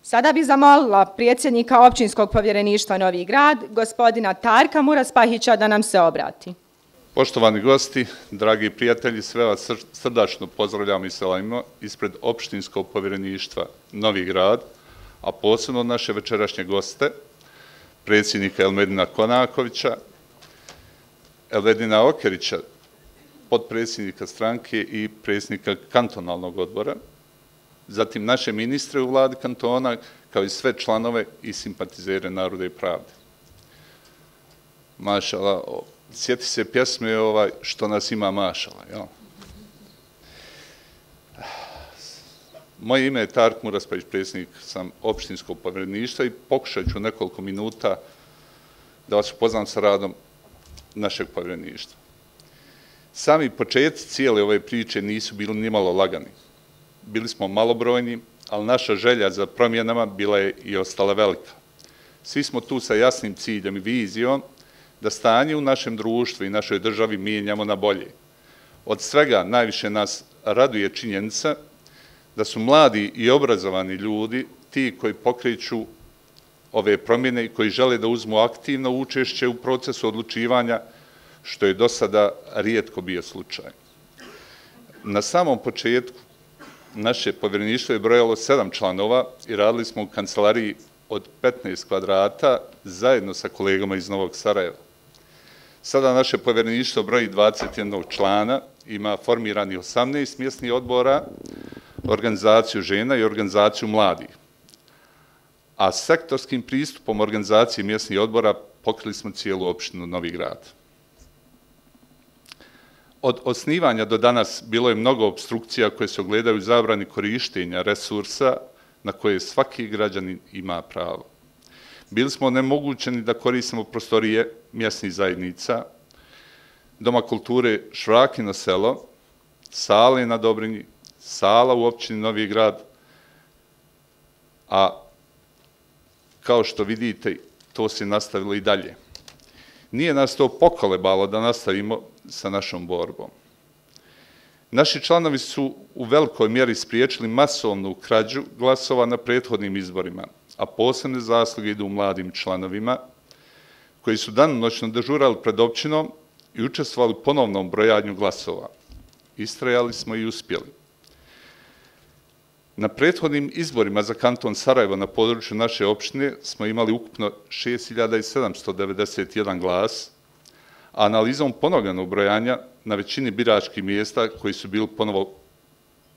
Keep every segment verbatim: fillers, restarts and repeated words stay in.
Sada bi zamolila predsjednika općinskog povjereništva Novi Grad, gospodina Tarka Muraspahića, da nam se obrati. Poštovani gosti, dragi prijatelji, sve vas srdačno pozdravljam i selamimo ispred općinskog povjereništva Novi Grad, a posebno naše večerašnje goste, predsjednika Elmedina Konakovića, Elvedina Okerića, potpredsjednika stranke i predsjednika kantonalnog odbora, zatim naše ministre u vladi kantona, kao i sve članove i simpatizere Naroda i pravde. Mašala, sjeti se pjesme ovaj, što nas ima mašala. Jel? Moje ime je Tark Muraspahić, predsjednik sam općinskog povjereništva i pokušat ću nekoliko minuta da vas upoznam sa radom našeg povjereništva. Sami početci cijele ove priče nisu bili nimalo lagani. Bili smo malobrojni, ali naša želja za promjenama bila je i ostala velika. Svi smo tu sa jasnim ciljem i vizijom da stanje u našem društvu i našoj državi mijenjamo na bolje. Od svega najviše nas raduje činjenica da su mladi i obrazovani ljudi ti koji pokreću ove promjene i koji žele da uzmu aktivno učešće u procesu odlučivanja, što je do sada rijetko bio slučaj. Na samom početku naše povjereništvo je brojalo sedam članova i radili smo u kancelariji od petnaest kvadrata zajedno sa kolegama iz Novog Sarajeva. Sada naše povjereništvo broji dvadeset jedan člana, ima formirani osamnaest mjesnih odbora, organizaciju žena i organizaciju mladih. A sektorskim pristupom organizacije mjesnih odbora pokrili smo cijelu opštinu Novi Grad. Od osnivanja do danas bilo je mnogo opstrukcija koje se ogledaju u zabrani korištenja resursa na koje svaki građanin ima pravo. Bili smo onemogućeni da koristimo prostorije mjesnih zajednica, Doma kulture Švrakino selo, sale na Dobrinji, sala u općini Novi Grad, a kao što vidite, to se nastavilo i dalje. Nije nas to pokolebalo da nastavimo sa našom borbom. Naši članovi su u velikoj mjeri spriječili masovnu krađu glasova na prethodnim izborima, a posebne zasluge idu mladim članovima, koji su danonoćno dežurali pred općinom i učestvovali u ponovnom brojanju glasova. Istrajali smo i uspjeli. Na prethodnim izborima za kanton Sarajevo na području naše opštine smo imali ukupno šest hiljada sedamsto devedeset jedan glas, a analizom ponovljenog brojanja na većini biračkih mjesta koji su bili ponovo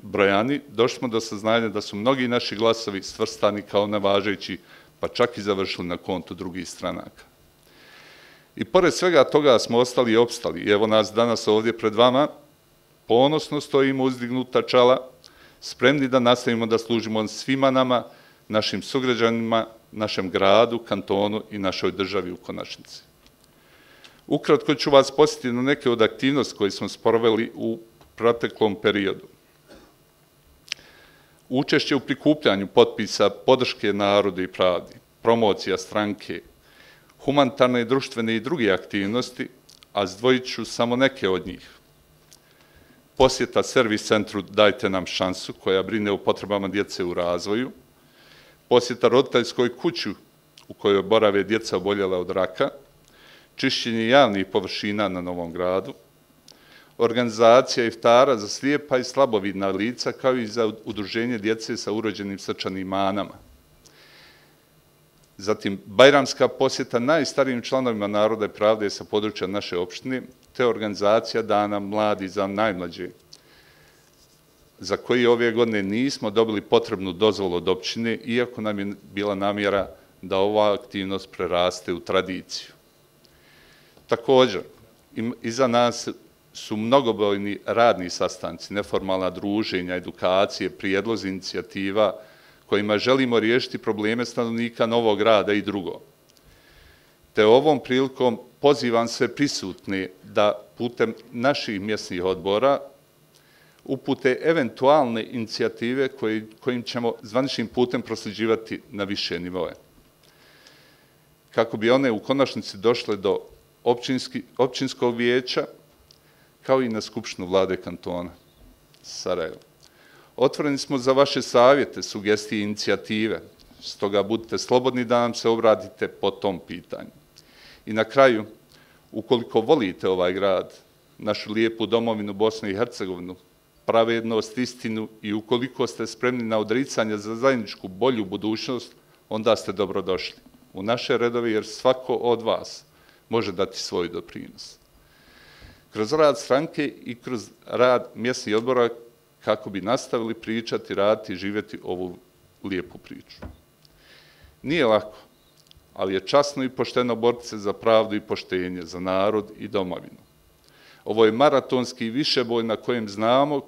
brojani, došli smo do saznanja da su mnogi naši glasovi svrstani kao nevažeći, pa čak i završili na kontu drugih stranaka. I pored svega toga smo ostali i opstali. I evo nas danas ovdje pred vama, ponosno stojimo uzdignuta čala, spremni da nastavimo da služimo svima nama, našim sugrađanima, našem gradu, kantonu i našoj državi u konačnici. Ukratko ću vas posjetiti na neke od aktivnosti koje smo sproveli u proteklom periodu. Učešće u prikupljanju potpisa podrške Narodu i pravdi, promocija stranke, humanitarne, društvene i druge aktivnosti, a zdvojit ću samo neke od njih. Posjeta servis centru Dajte nam šansu, koja brine o potrebama djece u razvoju, posjeta roditeljskoj kući u kojoj borave djeca oboljela od raka, čišćenje javnih površina na Novom Gradu, organizacija iftara za slijepa i slabovidna lica, kao i za udruženje djece sa urođenim srčanim manama. Zatim, bajramska posjeta najstarijim članovima Naroda i pravde sa područja naše opštine, te organizacija Dana mladi za najmlađe, za koji ove godine nismo dobili potrebnu dozvolu od opštine, iako nam je bila namjera da ova aktivnost preraste u tradiciju. Također, iza nas su mnogobrojni radni sastanci, neformalna druženja, edukacije, prijedlozi, inicijativa kojima želimo riješiti probleme stanovnika Novog Grada i drugo. Te ovom prilikom pozivam sve prisutne da putem naših mjesnih odbora upute eventualne inicijative kojim ćemo zvaničnim putem prosljeđivati na više nivoje. Kako bi one u konačnici došle do općinskog vijeća, kao i na Skupštinu vlade kantona Sarajevo. Otvoreni smo za vaše savjete, sugestije i inicijative. Stoga budite slobodni da nam se obratite po tom pitanju. I na kraju, ukoliko volite ovaj grad, našu lijepu domovinu Bosnu i Hercegovinu, pravednost, istinu i ukoliko ste spremni na odricanje za zajedničku bolju budućnost, onda ste dobrodošli u naše redove jer svako od vas može dati svoj doprinos. Kroz rad stranke i kroz rad mjesnih odbora kako bi nastavili pričati, raditi i živjeti ovu lijepu priču. Nije lako, ali je časno i pošteno boriti se za pravdu i poštenje, za narod i domovinu. Ovo je maratonski višeboj na kojem znamo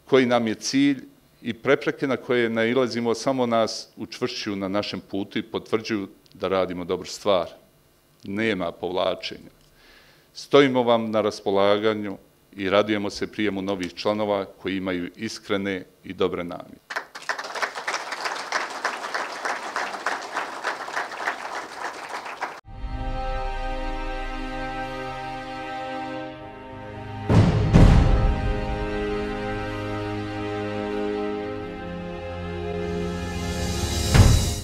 koji nam je cilj i prepreke na koje nailazimo samo nas učvršćuju na našem putu i potvrđuju da radimo dobru stvar. Nema povlačenja. Stojimo vam na raspolaganju i radujemo se prijemu novih članova koji imaju iskrene i dobre namjere.